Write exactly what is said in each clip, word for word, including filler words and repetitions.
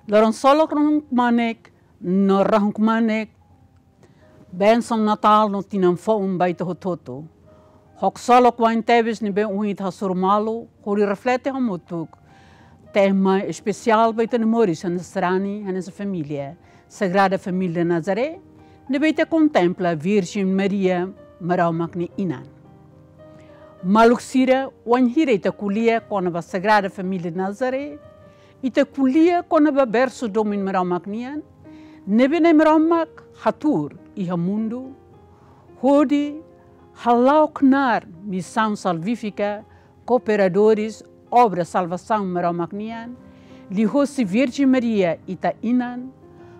Loron ksolok rahun-kmanek no rahun-kmanek, bensaun Natál no tinan foun ba ita hotu-hotu. Ho ksolok wa'in tebes ne'ebé ohin ita hasoru malu, hodi reflete hamutuk tema espesiál ba ita-nia moris hanesan sarani, hanesan família, Sagrada Família Nazaré, ne'ebé ita kontempla Virjen Maria, Maromak nia Inan. Maluk sira, wainhira ita ko'alia kona-ba Sagrada Família Nazaré, ita ko'alia kona-ba bersu domin Maromak nian, ne'ebé Nai Maromak hatuur iha mundu, hodi hala'o knaar misaun salvífika, kooperadores obra salvasaun Maromak nian, liuhosi Virjen Maria ita inan,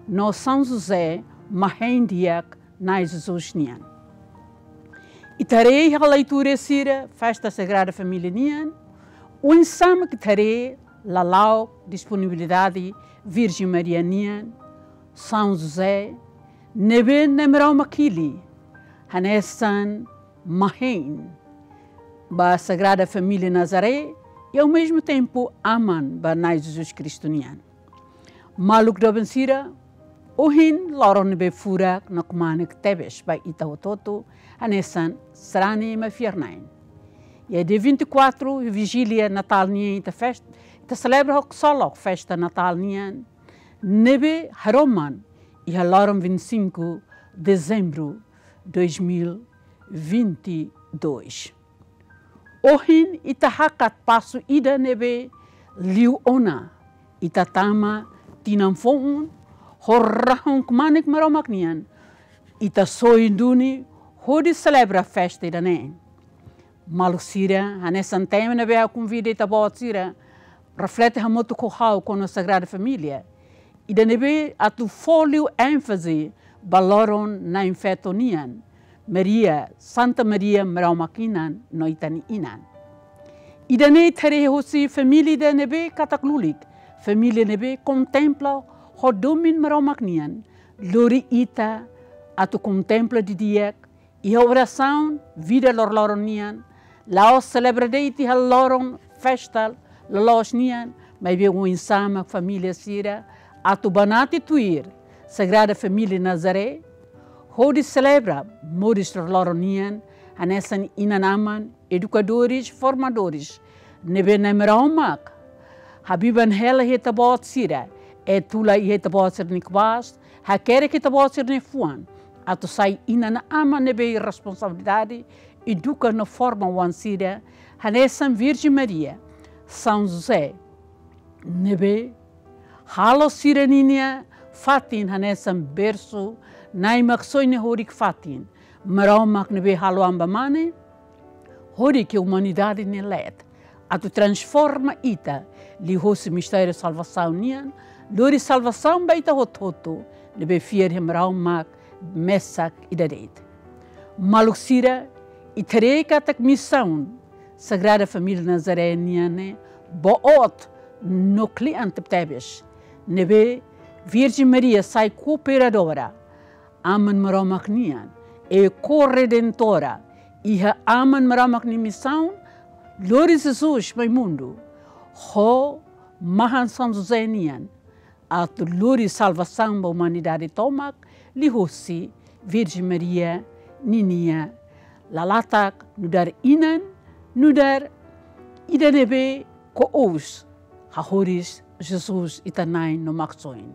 no São José, mahein di'ak Nai Jesus nian. Ita haree iha leitura sira festa Sagrada Família nian, oinsá mak ita haree lala'ok disponibilidade Virjen Maria nian, São José, ne'ebé Nai Maromak hili hanesan mahein ba Sagrada Família Nazaré, i ao mesmo tempo aman ba Nai Jesus Kristu nian. Maluk doben sira, ohin loron ne'ebé furak no kmanek tebes ba ita hotu-hotu, hanesan sarani mai fiar-na'in. Iha dia vinte e quatro, Vijília Natál nian ita fest-, ita selebra ho ksolok festa Natál nian, ne'ebé haroman iha loron vinte e cinco de dezembro dois mil vinte e dois. Ohin ita hakat pasu ida ne'ebé liu ona, ita tama tinan foun, ho rahun-kmanek Maromak nian, ita soin duni hodi selebra festa ida-ne'e. Maluk sira, hanesan tema ne'ebé ha'u konvida ita-boot sira reflete hamutuk ho ha'u kona Sagrada Família, ida ne'ebé atu fó liu énfaze ba loron Na'in-Feto nian, Maria, Santa Maria, Maromak Inan no ita-nia Inan. Ida-ne'e ita haree hosi família ida ne'ebé katak lulik, família ne'ebé kontempla ho domin Maromak nian, lori ita atu kontempla didi'ak iha orasaun vida loroloron nian, la'ós selebra de'it iha loron festa loloos nian, maibé oinsá mak família sira atu banati tuir Sagrada Família Nazaré, hodi selebra moris loroloron nian, hanesan inan-aman, edukadores, formadores, ne'ebé Nai Maromak habiban hela iha ita-boot sira, etula iha ita-boot sira-nia kuas, hakerek ita-boot sira-nia fuan, atu sai inan-aman ne'ebé iha responsabilidade eduka no forma oan sira, hanesan Virjen Maria, São José, ne'ebé halo sira-ninia fatin hanesan bersu, Nai Maksoin nia horik-fatin, Maromak ne'ebé halo an ba mane, horik iha umanidade nia leet, atu transforma ita liuhosi mistériu salvasaun nian, lori salvasaun ba ita hotu-hotu ne'ebé fiar iha Maromak mesak ida de'it. Maluk sira, ita haree katak misaun Sagrada Família Nazaré nian ne'e boot no kle'an tebetebes, ne'ebé Virjen Maria sai kooperadora Aman Maromak nian, i korredentora iha Aman Maromak nia misaun, lori Jesus mai mundu, ho mahan São José nian, atu lori salvasaun ba umanidade tomak, liuhosi Virjen Maria ninia lalatak, nu'udar inan, nu'udar ida ne'ebé ko'us hahoris Jesus ita-nia Nai no Maksoin.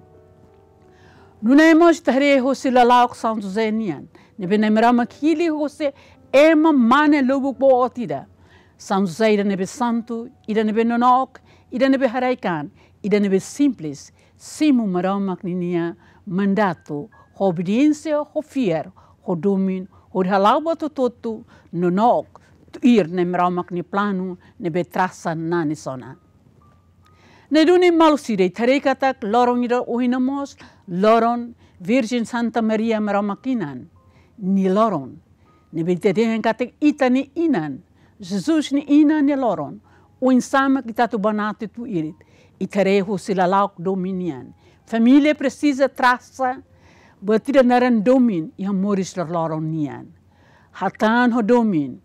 Nune'e mós ita haree hosi lala'ok São José nian, ne'ebé Nai Maromak hili hosi ema mane lubuk boot ida. São José ida ne'ebé santu, ida ne'ebé nonook, ida ne'ebé haraik-an, ida ne'ebé simples, simu Maromak ninia mandatu, ho obediénsia, ho fiar, ho domin, hodi hala'o buat hotu-hotu nonook, tuir Nai Maromak nia planu ne'ebé trasa nanis ona. Ne'e duni maluk sira, ita haree katak loron ida ohin ne'e mós loron Virjen Santa Maria Maromak Inan nia loron. Ne'ebé ita dehan katak ita-nia inan, Jesus nia inan nia loron. Oinsá mak ita atu banati tuir, ita haree hosi lala'ok domin nian. Família presiza trasa buat ida naran domin iha moris loroloron nian. Hatán ho domin,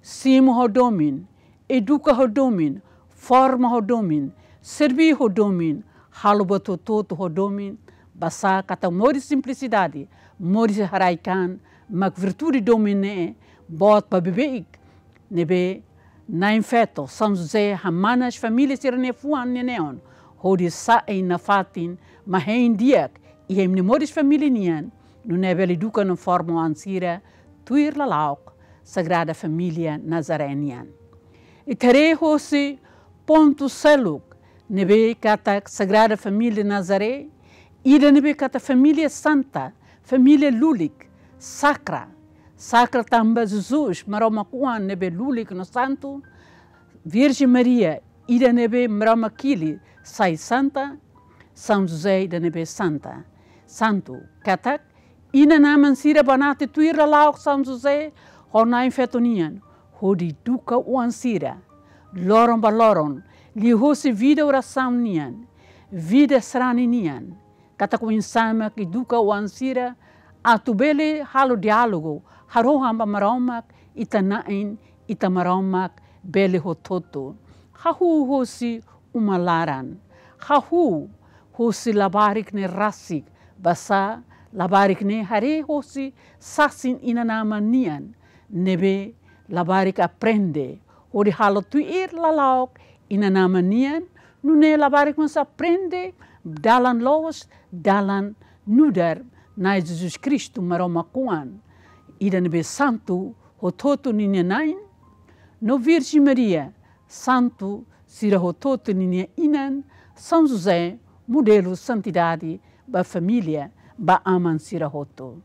simu ho domin, eduka ho domin, forma ho domin, serbí ho domin, halo buat hotu-hotu ho domin, basá katak moris simplisidade, moris haraik-an, mak virtude domin ne'e boot ba beibeik ne'ebé Na'in-Feto, São José, hamanas família sira-nia fuan nia neon, hodi sa'e nafatin mak hein di'ak iha imi-nia moris família nian, nune'e bele eduka no forma oan sira tuir lala'ok Sagrada Família Nazaré nian. Ita haree hosi pontu seluk ne'ebé katak Sagrada Família Nazaré, ida ne'ebé katak família santa, família lulik, sakra. Sakra tanba Jesus, Maromak oan ne'ebé lulik no santu, Virjen Maria, ida ne'ebé Maromak hili sai santa, São José, ida ne'ebé santa, santu. Katak inan-aman sira banati tuir lala'ok São José ho Na'in-Feto nian, hodi eduka oan sira loron ba loron, liuhosi vida orasaun nian, vida sarani nian. Katak oinsá mak eduka oan sira atu bele halo diálogu, harohan ba Maromak, ita Na'in, ita Maromak bele hotu-hotu. Hahú hosi uma laran, hahú hosi labarik ne'e rasik, basá labarik ne'e haree hosi sasin inan-aman nian, ne'ebé labarik aprende hodi halo tuir lala'ok inan-aman nian, nune'e labarik mós aprende dalan loos, dalan nu'udar Na'i Jesus Kristu, Maromak oan, ida ne'ebé santu hotu-hotu ninia na'in, no Virjen Maria, santu sira hotu-hotu ninia inan, São José, modelu santidade ba família, ba aman sira hotu.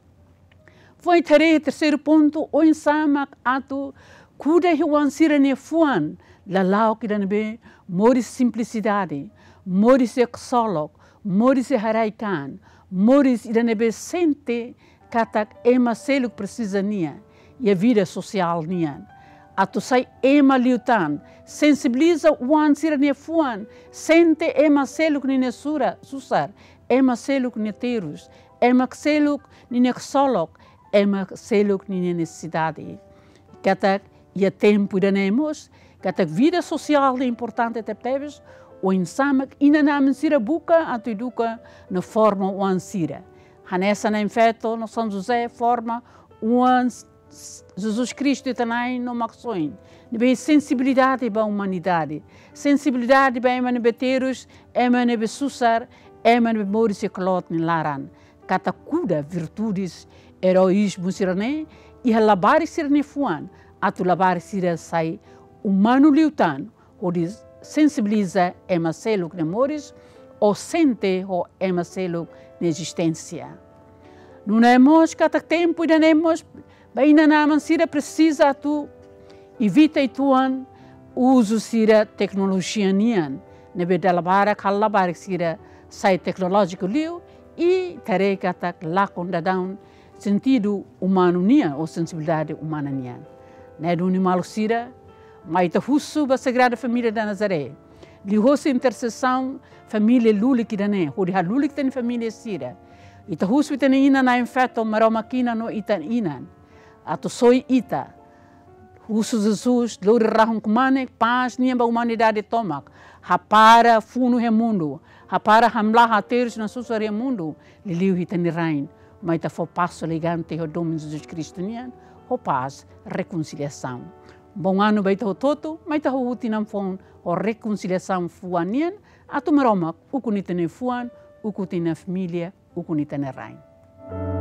Foin ita haree terseiru pontu, oinsá mak atu kuda iha oan sira-nia fuan, lala'ok ida ne'ebé moris simplisidade, moris eksolok, moris haraik-an, moris ida ne'ebé sente katak ema seluk presiza nia iha vida sosiál nian. Atu sai ema liután, sensibiliza oan sira-nia fuan, sente ema seluk ninia sura, susar, ema seluk nia terus, ema seluk ninia ksolok, ema seluk ninia nesesidade. Katak iha tempu ida-ne'e mós, katak vida sosiál ne'e importante tebetebes, oinsá mak inan-aman sira buka atu eduka no forma oan sira. Hanesan Na'in-Feto no São José forma oan Jesus Kristu ita Na'in no Maksoin, ne'ebé sensibilidade ba umanidade, sensibilidade ba ema ne'ebé terus, ema ne'ebé susar, ema ne'ebé moris iha kloot nia laran. Katak kuda virtudes, eroízmu sira-ne'e iha labarik sira-nia fuan, atu labarik sira sai umanu liután, hodi sensibiliza ema seluk nia moris, ou sente ho ema seluk nia ezisténsia. Nune'e mós katak tempu ida-ne'e mós, ba inan-aman sira presiza atu evita uitoan uzu sira teknolojia nian, ne'ebé dala barak halo labarik sira sai teknolójiku liu, i ita haree katak lakon daudaun sentidu umanu nian, ou sensibilidade umana nian. Ne'e duni maluk sira, mai ita husu ba Sagrada Família da Nazaré, liuhosi intersesaun família lulik ida-ne'e, hodi halulik ita-nia família sira. Ita husu ita-nia inan Na'in-Feto, Maromak inan no ita inan, atu soi ita. Husu Jesus, lori rahun kmanek, pás nian ba umanidade tomak. Hapara funu iha mundu, hapara hamlaha terus no susar iha mundu, liuliu ita-nia rain. Mai ita fó pasu elegante ho domin Jesus Kristu nian, ho pás, rekonsiliasaun. Bom ano ba ita hotu-hotu, mai ita hahú tinan foun ho rekonsiliasaun fuan nian, atu Maromak ukun ita-nia fuan, ukun ita-nia família, ukun ita-nia rain.